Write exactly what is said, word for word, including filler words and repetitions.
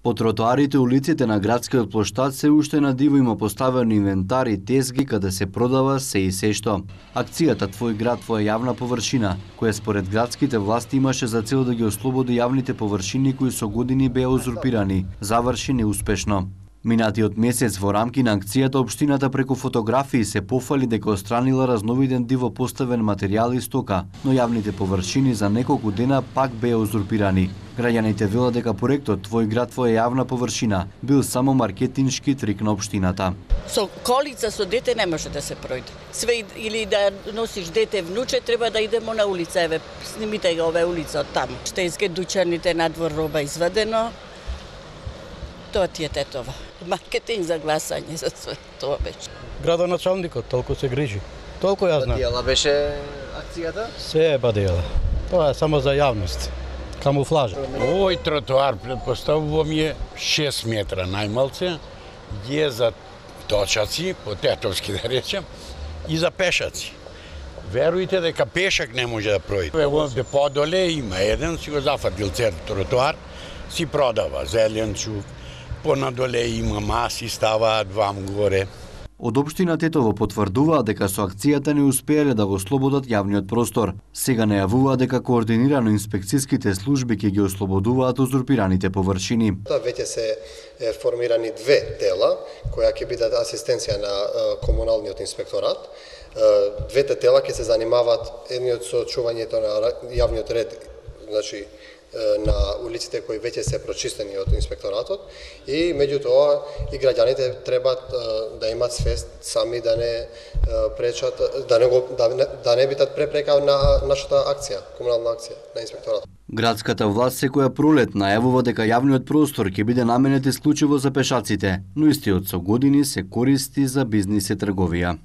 По тротоарите и улиците на градскиот плоштад се уште на диво има поставени инвентари, тезги каде се продава се и се што. Акцијата Твој град, твоја јавна површина, која според градските власти имаше за цел да ги ослободи јавните површини кои со години беа узурпирани, заврши неуспешно. Минатиот месец во рамки на акцијата општината преку фотографии се пофали дека отстранила разновиден диво поставен материјал и стока, но јавните површини за неколку дена пак беа узурпирани. Граѓаните велат дека проектот Твој град, твоја јавна површина бил само маркетиншки трик на општината. Со колица со дете не може да се пројде. Све или да носиш дете внуче, треба да идемо на улица, еве снимите го оваа улица од таму. Штејске дуќаните надвор роба извадено. Тоа ти е тетова. Маркетинг за гласање за све тоа беше. Градоначалникот толку се грижи. Толку ја знам. Бадијала беше акцијата? Се е бадијала. Тоа е само за јавност. Камуфлажа. Овој тротоар, предпоставувам, е шест метра најмалце, е за точаци, по тетовски да речем, и за пешаци. Верујте дека пешак не може да пројде. Ево де подоле има еден, си го зафатил цел тротоар, си продава зеленчук, понадоле има маси, ставаат вам горе. Од општина Тетово потврдуваат дека со акцијата не успеале да го ослободат јавниот простор. Сега најавуваат дека координирано инспекцијските служби ќе ги ослободуваат узурпираните површини. Веќе се формирани две тела која ќе бидат асистенција на комуналниот инспекторат. Двете тела ќе се занимаваат едниот со чувањето на јавниот ред, значи на улиците кои веќе се прочистени од инспекторатот, и меѓутоа и граѓаните треба да имаат свест сами да не пречат, да не го, да не, да не бидат препрека на нашата акција, комунална акција на инспекторатот. Градската власт секоја пролет најавува дека јавниот простор ќе биде наменет исклучиво за пешаците, но истиот со години се користи за бизнис и трговија.